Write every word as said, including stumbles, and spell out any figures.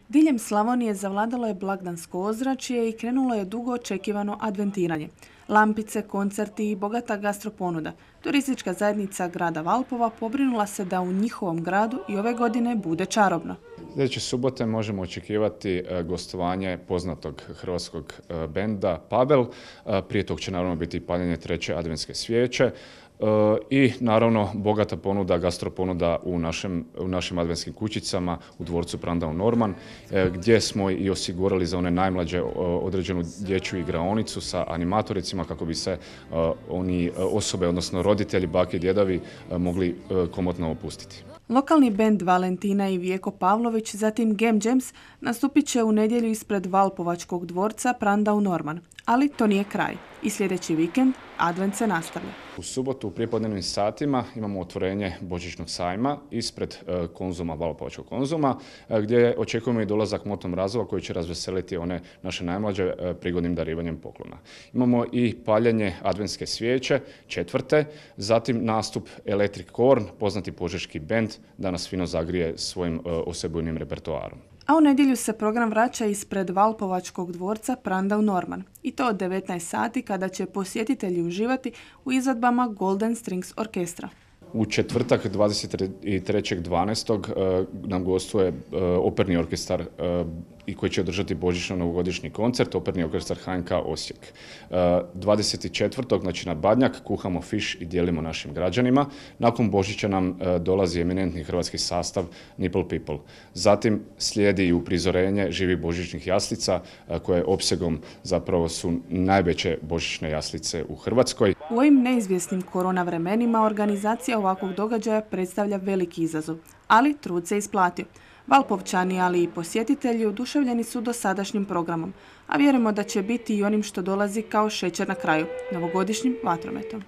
Diljem Slavonije zavladalo je blagdansko ozračje i krenulo je dugo očekivano adventiranje. Lampice, koncerti i bogata gastroponuda. Turistička zajednica grada Valpova pobrinula se da u njihovom gradu i ove godine bude čarobno. Sljedeće subote možemo očekivati gostovanje poznatog hrvatskog benda Pabel. Prije tog će naravno biti paljenje treće adventske svijeće. I naravno bogata ponuda, gastroponuda u našem, u našim adventskim kućicama u dvorcu Prandau Norman, gdje smo i osigurali za one najmlađe određenu dječju igraonicu sa animatoricima kako bi se oni osobe, odnosno roditelji, bake i djedovi mogli komotno opustiti. Lokalni bend Valentina i Vijeko Pavlović, zatim Gem Jams, nastupit će u nedjelju ispred Valpovačkog dvorca Prandau Norman. Ali to nije kraj. I sljedeći vikend advent se nastavlja. U subotu u prijepodnevnim satima imamo otvorenje božićnog sajma ispred Konzuma, Valpovačkog Konzuma, gdje očekujemo i dolazak Motom Razova koji će razveseliti one naše najmlađe prigodnim darivanjem poklona. Imamo i paljenje adventske svijeće, četvrte, zatim nastup Electric Corn, poznati požeški bend, da nas fino zagrije svojim osebujnim repertoarom. A u nedjelju se program vraća ispred Valpovačkog dvorca Prandau Norman. I to od devetnaest sati kada će posjetitelji uživati u izvedbama Golden Strings Orkestra. U četvrtak dvadeset trećeg dvanaestog nam gostuje operni orkestar i koji će održati božićno-novogodišnji koncert, operni orkestar H N K Osijek. dvadeset četvrtog znači na Badnjak, kuhamo fiš i dijelimo našim građanima. Nakon Božića nam dolazi eminentni hrvatski sastav Nipple People. Zatim slijedi i uprizorenje živih božićnih jaslica koje opsegom zapravo su najveće božićne jaslice u Hrvatskoj. U ovim neizvjesnim korona vremenima organizacija ovakvog događaja predstavlja veliki izazov, ali trud se isplatio. Valpovčani, ali i posjetitelji oduševljeni su dosadašnjim programom, a vjerujemo da će biti i onim što dolazi kao šećer na kraju, novogodišnjim vatrometom.